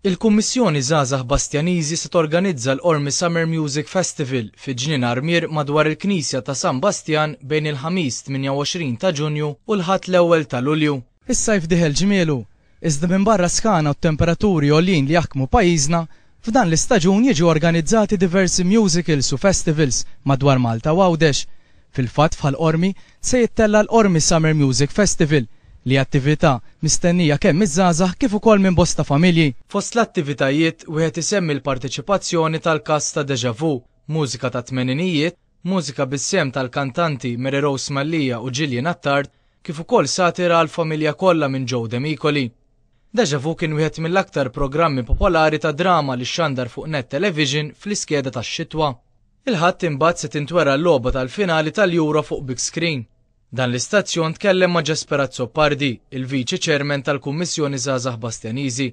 Il-Kummissjoni Żgħażagħ Bastjaniżi se torganizza l-Qormi Summer Music Festival fi Ġnien Armier madwar il-Knisja ta' San Bastjan bejn il-Ħamis 28 ta' Ġunju u l-Ħadd l-ewwel ta' Lulju. Is-sajf dieħel ġmielu, iżda minbarra s-sħana u t-temperaturi għoljin li jaħkmu pajjiżna, f'dan l-istaġun jiġu organizzati diversi musicals u festivals madwar Malta u Għawdex. Fil-fatt f'Ħal Qormi se jittella' l-Qormi Summer Music Festival, li attività mistennija kemm miż-żgħażagħ kif ukoll minn bosta familji. Fost l-attivitajiet wieħed isemmi l-parteċipazzjoni tal-kast ta' Deja Vu, mużika tat-tmeninijiet, mużika bis-sehem tal-kantanti Mary Rose Mallia u Gillian Attard, kif ukoll satira għall-familja kollha minn Joe Demicoli. Deja Vu kien wieħed mill-aktar programmi popolari ta' drama li xxandar fuq Net Television fl-iskeda tax-xitwa. Il-Ħadd imbagħad se tintwera l-logħba tal-finali tal-Euro fuq big screen. Dan l-istazzjon tkellem ma' Jesper Azzopardi, il-Viċi Chairman tal-Kummissjoni Żgħażagħ Bastjaniżi,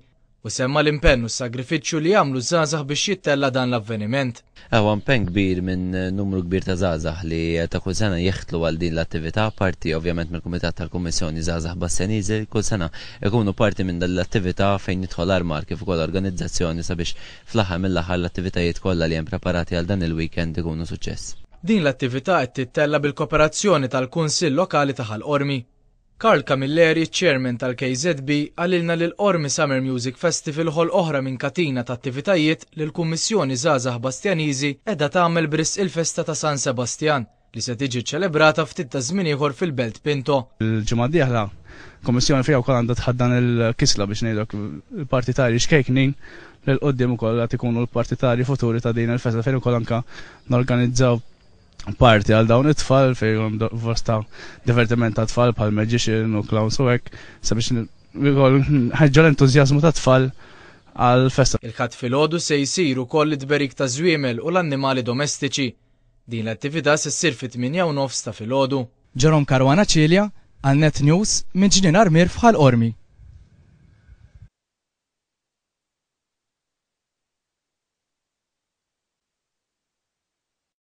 u semma l-impenn u s-sagrifiċċju li jagħmlu ż-żgħażagħ biex jittella' dan l-avveniment. Huwa impenn kbir minn numru kbir ta' żgħażagħ li ta' kull sena jeħtlu għal din l-attività, parti ovvjament mill-Kumitat tal-Kummissjoni Żgħażagħ Bastjaniżi li kull sena jkunu parti minn dan l-attività fejn jidħol armar kif ukoll organizzazzjoni sabiex fl-aħħar mill-aħħar l-attivitajiet kollha li hemm preparati għal dan il-weekend ikunu suċċess. Din l-attività qed tittella' bil-koperazzjoni tal-Kunsill Lokali ta' Ħal Qormi. Karl Camilleri, Chairman tal-KZB, qalilna li l-Qormi Summer Music Festival ħolq oħra minn katina ta' attivitajiet li l-Kummissjoni Żgħażagħ Bastjaniżi qiegħda tagħmel b'risq il-festa ta' San Sebastjan, li se tiġi ċċelebrata ftit taż-żmien ieħor fil-Belt Pinto. Il-ġimgħa d-dieħla, Kummissjoni fiha wkoll għandha tħaddan il-kisla biex ngħidu hekk il-partitarji xkejknin li 'l quddiem ukoll għad ikunu l-partitarji futuri ta' din il-festa fejn ukoll anke norganizzaw parti għal dawn it-tfal fejn hemm bosta divertiment ta' tfal bħal magician u clowns u hekk sabiex ukoll nħeġġu l-entużjażmu tat-tfal għall-festa. Il-Ħadd filgħodu se jsir ukoll it-tberik taż-żwiemel u l-annimali domestiċi. Din l-attività se ssir fit-tmienja u nofs ta' filgħodu. Jerome Caruana Cilia għal Net News minn Ġnien Armier f'Ħal Qormi.